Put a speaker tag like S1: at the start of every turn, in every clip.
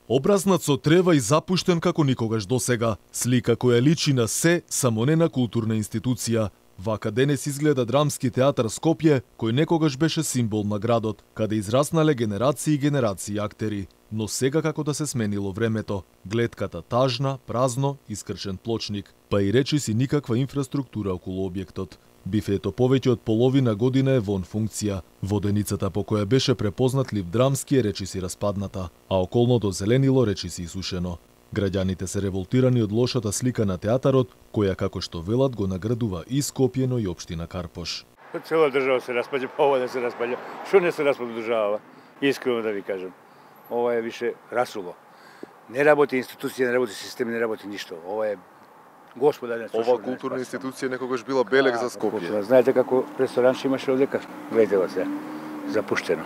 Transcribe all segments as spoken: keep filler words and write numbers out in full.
S1: Образнат со трева и запуштен како никогаш досега, слика која личи на се, само не на културна институција. Вака денес изгледа Драмски театар Скопје, кој некогаш беше символ на градот, каде израснале генерации и генерации актери. Но сега како да се сменило времето, гледката тажна, празно, искрчен плочник, па и речиси никаква инфраструктура околу објектот. Бифето повеќе од половина година е вон функција. Воденицата по која беше препознат Лив Драмски е речиси распадната, а околното зеленило речиси исушено. Граѓаните се револтирани од лошата слика на театарот, која како што велат го наградува и Скопје, но и општина Карпош.
S2: Цела држава се распаѓа, па ова да се распаѓа. Што не се распаѓа држава? Искрено да ви кажам. Ова е више расуло. Не работи институција, не работи систем, не работи ништо. Ова е Господа,
S3: ова културна институција некогаш била белег за Скопје.
S2: Знаете како ресторанче имаше одека, гледате се, запуштено.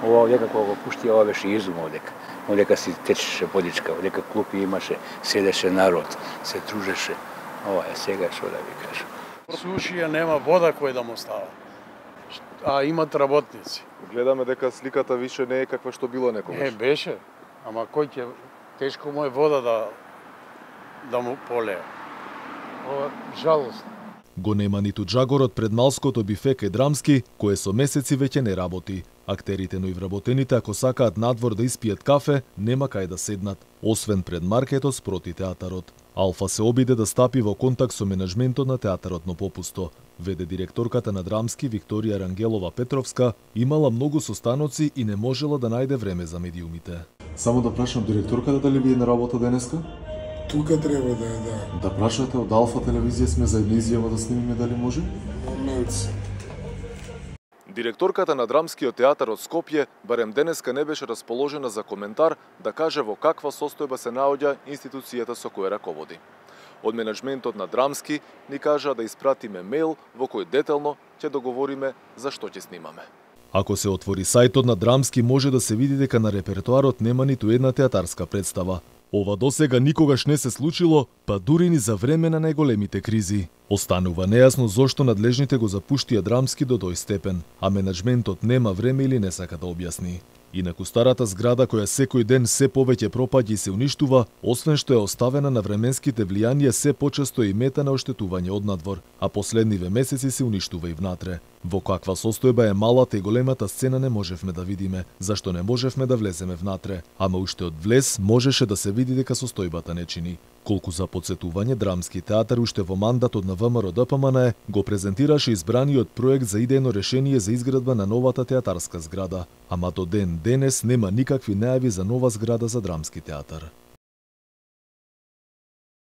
S2: Ова одека кога го пушти, ова беше изум одека. Одека си течеше водичка, одека клупи имаше, седеше народ, се дружеше. Ова е сега што да ви кажам.
S4: Сушија нема вода кој да му става, а имат работници.
S3: Гледаме дека сликата више не е каква што било некогаш.
S4: Не беше, ама кој ќе тешко му е вода да да му полее. Ова жалост.
S1: Го нема ниту джагорот пред малското бифе кај Драмски, кое со месеци веќе не работи. Актерите, но и вработените, ако сакаат надвор да испијат кафе, нема кај да седнат, освен пред маркетот спроти театарот. Алфа се обиде да стапи во контакт со менеджментот на театарот, но попусто. Веде директорката на Драмски, Викторија Рангелова Петровска, имала многу состаноци и не можела да најде време за медиумите.
S5: Само да прашам директорката дали ви е на работа денеска?
S6: Тука треба да е, да.
S5: Да прашате од Алфа телевизија сме за една изјава да снимиме дали може?
S6: Момент.
S3: Директорката на Драмскиот театар од Скопје барем денеска не беше расположена за коментар да каже во каква состојба се наоѓа институцијата со која раководи. Од менеджментот на Драмски ни кажаа да испратиме мејл во кој детално ќе договориме за што ќе снимаме.
S1: Ако се отвори сајтот на Драмски, може да се види дека на репертоарот нема ниту една театарска представа. Ова досега никогаш не се случило, па дури ни за време на најголемите кризи. Останува нејасно зошто надлежните го запуштија Драмски до тој степен, а менеджментот нема време или не сака да објасни. Инаку старата зграда која секој ден се повеќе пропаѓа и се уништува, освен што е оставена на временските влијанија, се почесто и мета на оштетување од надвор, а последниве месеци се уништува и внатре. Во каква состојба е малата и големата сцена не можевме да видиме, зашто не можевме да влеземе внатре, ама уште од влез можеше да се види дека состојбата не чини. Колку за подсетување, Драмски театар уште во мандатот на ВМРО Д П М Н Е го презентираше избраниот проект за идејно решение за изградба на новата театарска зграда, ама до ден денес нема никакви најави за нова зграда за Драмски театар.